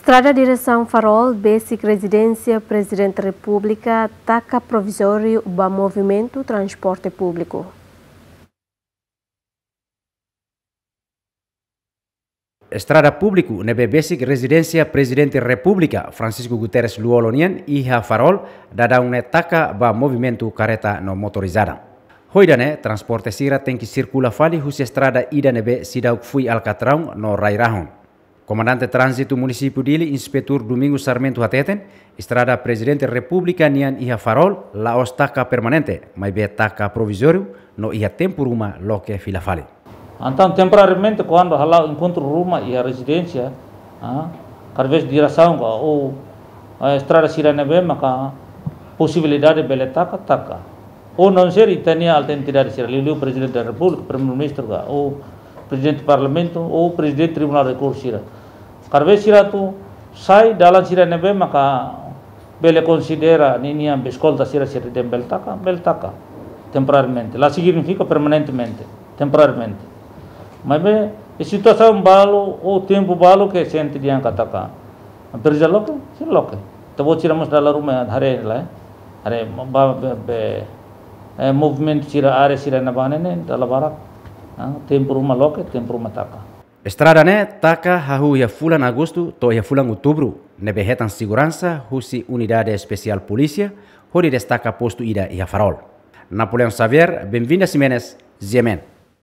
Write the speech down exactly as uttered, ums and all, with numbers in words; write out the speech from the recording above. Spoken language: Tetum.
Estrada diresaun Farol besik rezidénsia Prezidente Repúblika taka provizóriu ba movimentu transporte públiku. Estrada públiku ne'ebé besik rezidénsia Prezidente Repúblika Francisco Guterres Lú-Olo nian iha Farol daudaun ne'e taka ba movimentu karreta no motorizada. Ho ida-ne'e, transporte sira tenke sirkula fali husi estrada ida ne'ebé seidauk fui alkatraun no rai-rahun. Komandante Tránzitu Munisípiu Dili, Inspetór Domingos Sarmento hateten, estrada Prezidente Repúblika nian iha Farol la'ós taka permanente, maibé taka provizóriu no iha tempu ruma loke fila fali. Entaun, temporariamente, kuandu hala'o enkontru ruma iha rezidénsia, ah, kada vez diresaun ka ou, ah, estrada sira ne'ebé maka posibilidade bele taka, taka. Ou não ser ita-nia alta entidade sira, liuliu Prezidente da Repúblika, Primeiru-Ministru ka, ou Prezidente Parlamentu, ou Prezidente Tribunál Rekursu sira. Kada vez sira atu sai, dalan sira ne'ebé maka bele konsidera ninia eskolta sira, sira dehan bele taka, bele taka. Temporariamente. La signifika permanentemente. Temporariamente. Maibé, iha situasaun balu, ou tempu balu ke sente dehan katak presiza loke, sira loke. Ita-boot sira mós dala ruma haree lai. Haree ba, be, be, eh, movimentu sira, área sira ne'ebá ne'e, dala barak. Ah, tempu ruma loke, tempu ruma taka. Estrada ne'e taka hahú iha fulan Agostu to'o iha fulan Outubru, ne'ebé hetan seguransa husi Unidade Espesiál Polísia, hodi destaka postu ida iha Farol. Napoleão Xavier, Benvinda Ximenes, G M N.